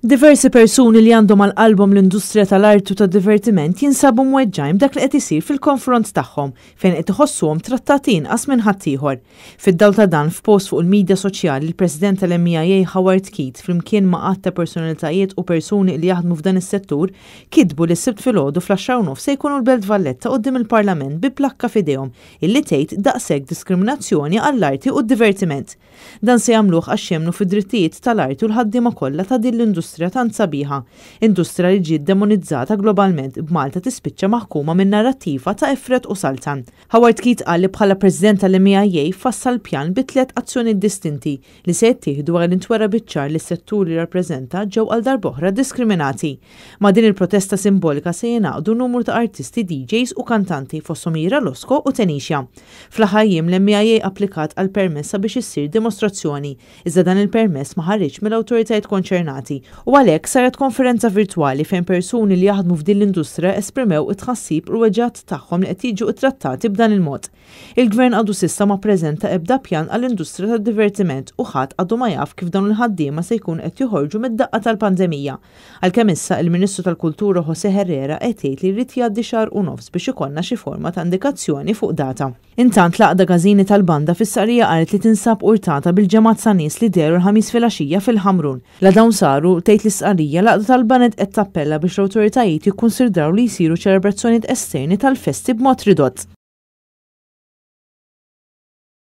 Diversi persuni li għandhom għal qalbhom l-industrija tal-arti u tad-divertiment jinsabu mweġġgħin b'dak li qed isir fil-konfront tagħhom fejn qed iħossuhom trattati inqas minn ħaddieħor. Fid-dawl ta' dan, f'post fuq il-midja soċjali, il-President tal-MEIA Howard Keith flimkien ma' għadd ta' personalitajiet u persuni li jaħdmu f'dan is-settur kitbu li s-Sibt filgħodu fl-10:30 se jkunu l-Belt Valletta quddiem il-Parlament bi plakka f'idejhom illi tgħid daqshekk diskriminazzjoni għall-arti u d-divertiment. Dan se jagħmluh għax jemmnu fid-drittijiet tal-arti u l-ħaddiema kollha ta' din l-industrija tant sabiħa. Industrija li ġiet demonizzata globalment, b'Malta tispiċċa maħkuma minn narrattiva ta' ifred u saltan. Howard Keith qal li bħala President tal-MEIA fassal pjan bi tlett azzjonijiet distinti li se jittieħdu wara li ntwera biċ-ċar li s-settur li jirrappreżenta ġew għal darb'oħra diskriminati. Ma' din il-protesta simbolika se jingħaqdu numru ta' artisti, DJs u kantanti fosthom Ira Losco u Tenisha. Fl-aħħar jiem l-MEIA applikat għal permess sabiex issir dimostrazzjoni, iżda dan il-permess ma ħariġx mill-awtoritajiet konċernati u għalhekk saret konferenza virtwali fejn persuni li jaħdmu f'din l-industrija esprimew it-tħassib u l-weġgħat tagħhom li qed jiġu ttrattati b'dan il-mod. Il-Gvern għadu s'issa ma ppreżenta ebda pjan għall-industrija tad-divertiment u ħadd għadu ma jaf kif dawn il-ħaddiema se jkunu qed joħorġu mid-daqqa tal-pandemija. Għalkemm issa il-Ministru tal-Kultura José Herrera qed jgħid li jrid jgħaddi xahar u nofs biex ikollna xi forma ta' indikazzjoni fuq data. Intant l-Għaqda Każini tal-Banda fis-Sqarrija qalet li tinsab urtata bil-ġemgħat ta' nies li dehru l-Ħamis filgħaxija fil-Ħamrun. La dawn saru, tgħid l-istqarrija, l-Għaqda tal-Baned qed tappella biex l-awtoritajiet jikkunsidraw li jsiru ċelebrazzjonijiet esterni tal-festi b'mod ridott.